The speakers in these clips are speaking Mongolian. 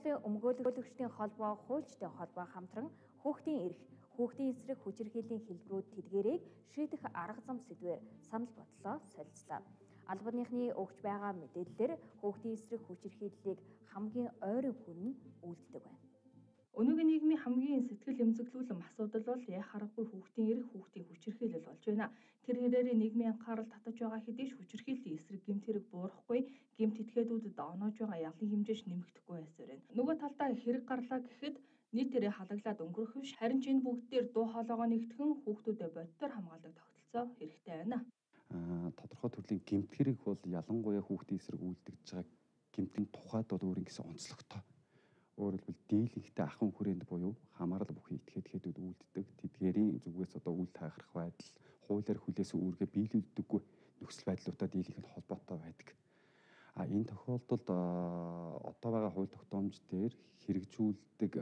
Өмгөөлөгчдийн холбоо, хуульчдын холбоо хамтран хүүхдийн эрх, хүүхдийн эсрэг хүчирхийллийн хэлбэрүүд тэдгээрийг шийдэх арга зам сэдвээр санал бодлоо солилцлоо. Албаныхны өгч байгаа мэдээллээр хүүхдийн эсрэг хүчирхийллийг хамгийн ойрын хүн нь үлддэг байна. Өнөөгийн нийгмийн хамгийн сэтгэл эмзэглүүлэн асуудал бол яах аргагүй хүүхдийн эрх, хүүхдийн хүчирхийлэл болж байна. Тэр хэрээр нийгмийн анхаарал татаж байгаа хэдий ч хүчирхийллийн эсрэг гэмт хэрэг буурахгүй, гэмт этгээдүүдэд оноож байгаа ялын хэмжээч нэмэгдэхгүй байсаар байна. Нөгөө талдаа хэрэг гарлаа гэхэд нийтээрээ халаглаад өнгөрөх биш, харин ч энэ бүгд дээр дуу хоолойгоо нэгтгэн хүүхдүүдэд бодитоор хамгаалдаг тогтолцоо хэрэгтэй байна. Тодорхой төрлийн гэмт хэрэг бол ялангуяа хүүхдийн эсрэг үйлдэгдэж байгаа гэмтийн тухайд бол өөр ингэсэн онцлогтой. Өөрөөр хэлбэл дийлэнхтэй ахын хүрээнд буюу хамаарал бүхий этгээдүүд үйлддэг тэдгээрийн зүгээс үйл тайхрах байдал, хуулиар хүлээсэн үүргээ биелүүлдэггүй нөхцөл байдлуудаа дийлэнхэд холбоотой байдаг. Энэ тохиолдолд одоо байгаа хууль тогтоомж дээр хэрэгжүүлдэг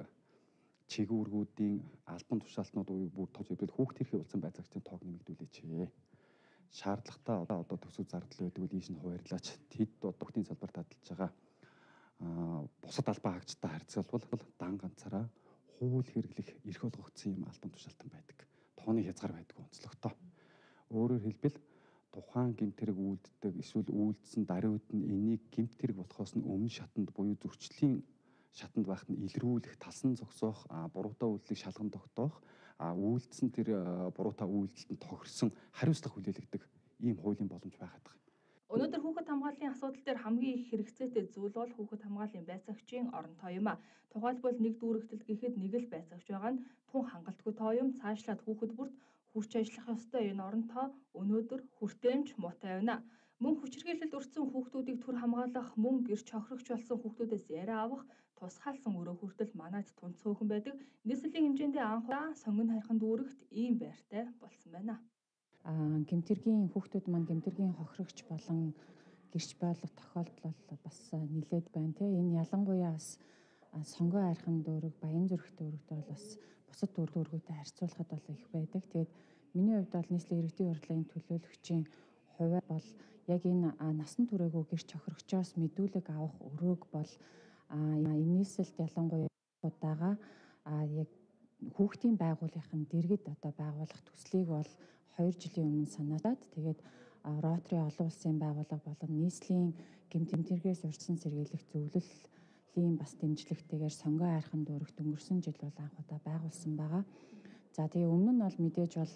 чиглэлүүдийн албан тушаалтнууд бүр тож хэвлэл хүүхд төрхийн улсын байцаагчдын тоог нэмэгдүүлээч. Шаардлагатай одоо төсөв зардал байдаг үл ийш нь хуваарлаач тэд хүүхдийн салбарт таталж байгаа бусад албан хаагчтай харьцуулбал дан ганцаараа хууль хэрэглэх эрх олгогдсон юм албан тушаалтан байдаг. Тооны хязгаар байдаг онцлогтой. Өөрөөр хэлбэл тухайн гэмт хэрэг үйлддэг эсвэл үйлдсэн даруйд нь энийг гэмт хэрэг болохоос нь өмнө шатанд буюу зөрчлийн шатанд байхад нь илрүүлэх, талсан зогсоох, буруутай үйлдэлийг шалган тогтоох, үйлдсэн тэр буруутай үйлдэлд нь тохирсон хариуцлага хүлээлгдэг ийм хуулийн боломж байгаад байгаа. Өнөөдөр хүүхэд хамгааллын асуудал дээр хамгийн их хэрэгцээтэй зүйл бол хүүхэд хамгааллын байцаагчийн орон тоо юм. Тухайлбал нэг дүүрэгтэлд гэхэд нэг л байцаагч байгаа нь тун хангалтгүй тоо юм. Цаашлаад хүүхэд бүрт хүрч ажиллах ёстой энэ орон тоо өнөөдөр хүртээмж муутай байна. Мөн хүчирхийлэлд өртсөн хүүхдүүдийг түр хамгаалах, мөн гэрч хохирогч болсон хүүхдүүдээс яриа авах, тусгаалсан өрөө хүртэл манайд тун цөөхөн байдаг. Нийслэлийн хэмжээндээ анхудаа сонгон харихын дүүрэгт ийм байртай болсон байна. Гэмтэргийн хүүхдүүд маань гэмтэргийн хохирогч болон гэрч байлах тохиолдол бас нэлээд байна те. Энэ ялангуяа бас сонгоо архин дүүрэг, баян зүрх дүүрэгт бол бас бусад дүүргүүдтэй харьцуулахад бол их байдаг. Тэгээд миний хувьд бол нийслэлийн иргэдийн урлагийн төлөөлөгчийн хувьд бол яг энэ насан туршаагүй гэрч хохирогчоос мэдүүлэг авах өрөөг бол энэ нийслэлд ялангуяа удаага яг хүүхдийн байгууллагын дэргэд одоо байгуулах төслийг бол 2 жилийн өмнө санаачаад тэгээд Ротари олон улсын байгууллага болон нийслэлийн гэмтэргээс урьдчилан сэргийлэх зөвлөлийн бас дэмжлэгтэйгээр сонгоо айрхан дүүрэгт өнгөрсөн жил бол анх удаа байгуулсан байгаа. За тэгээ өмнө нь бол мэдээж бол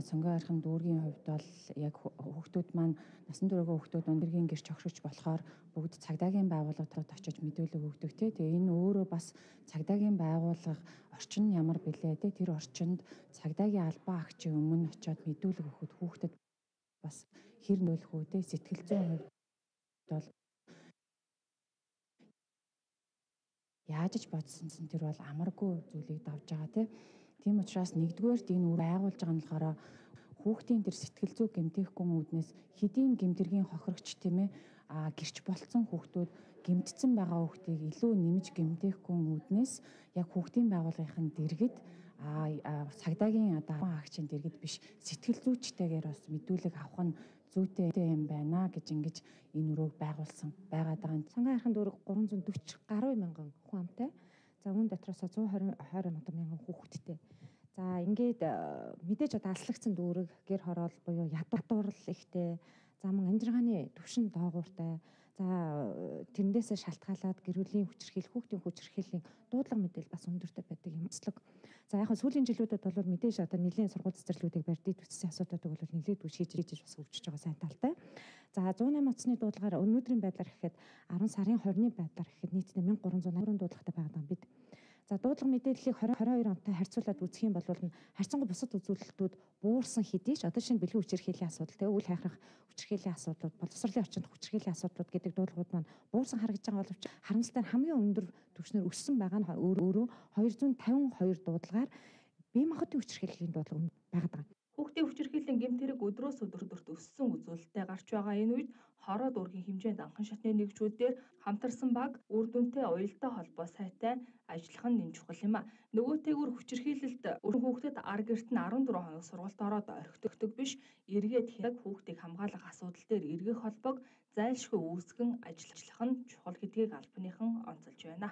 сонгоо айрхан дүүргийн хувьд бол яг хүүхдүүд маань насан туршаагүй хүүхдүүд өндөргийн гэрч хохирогч болохоор бүгд цагдаагийн байгууллагад очиж мэдүүлэг өгдөг те. Тэгээ энэ өөрөө бас цагдаагийн байгууллага орчин нь ямар билээ те. Тэр орчинд цагдаагийн албан агчийн өмнө очиод мэдүүлэг өгөхөд хүүхдэд бас хэр нөлөх үү те. Сэтгэл зүйн хувьд бол яаж ч бодсон чинь тэр бол амаргүй зүйлийг давж байгаа те. Тийм учраас нэгдүгээрт энэ үр байгуулж байгаа нь болохоор хүүхдийн тэр сэтгэл зүй гэмтээхгүй үүднээс хэдийн гэмтэргийн хохирогч тийм ээ гэрч болцсон хүүхдүүд гэмтсэн байгаа хүүхдийг илүү нэмж гэмтээхгүй үүднээс яг хүүхдийн байгууллагын дэргэд цагдаагийн одоо агчийн дэргэд биш сэтгэл зүйчтэйгээр бас мэдүүлэг авах нь зүйтэй юм байна гэж ингэж энэ өрөөг байгуулсан байгаад байгаа. Сонгоо айрхан дүүрэг 340 гаруй мянган хүн амтай. За үүн дотроос 120 мянган хүүхэдтэй. За ингээд мэдээж одоо аслагдсан дүүрэг гэр хороол буюу ядуурл ихтэй. За мөн амжиргааны түвшин доогууртай. За тэрнээсээ шалтгаалаад гэр бүлийн хүчирхийлэл, хүүхдийн хүчирхийллийн дуудлага мэдээлэл бас өндөртэй байдаг юм онцлог. За яг сүүлийн жилүүдэд бол мэдээж одоо нэлийн сургууль цэцэрлүүдийг барьдыг төссөн асуудлуудыг бол нэлээд шийдэж бас өвчөж байгаа сайн талтай. За 108 оцны дуудлагаар өнөөдрийн байдлаар гэхэд 10 сарын 20-ны байдлаар гэхэд нийтдээ 1380 дуудлагатай байгаа юм бид. За дуудлага мэдээллийг 2022 онтой харьцуулаад үзэх юм бол харьцангуй бусад үзүүлэлтүүд буурсан хэдий ч одоо шинэ бэлгийн хүчирхийллийн асуудал те үйл хайхрах хүчирхийллийн асуудлууд боловсролын орчинд хүчирхийллийн асуудлууд гэдэг дуудлагууд маань буурсан харагдаж байгаа боловч харамсалтай нь хамгийн өндөр түвшнээр өссөн байгаа нь өөрөө 252 дуудлагаар бие махбодын хүчирхийллийн дуудлага байгаад байгаа. Хүүхдийн хүчирхийллийн гэмт хэрэг өдрөөс өдөрт өссөн үзүүлэлттэй гарч байгаа энэ үед хороо дүүргийн хэмжээнд анхан шатны нэгжүүдээр хамтарсан баг үр дүнтэй уялдаа холбоо сайтай ажиллах нь чухал юм а. Нөгөөтэйгүр хүчирхийлэлд өргөн хүүхдэд ар гэрт нь 14 хоног сургалт ороод орхигддог биш, эргээд хэрэг хүүхдийг хамгаалах асуудал дээр эргэх холбоог зайлшгүй үүсгэн ажиллах нь чухал гэдгийг албаныхан онцолж байна.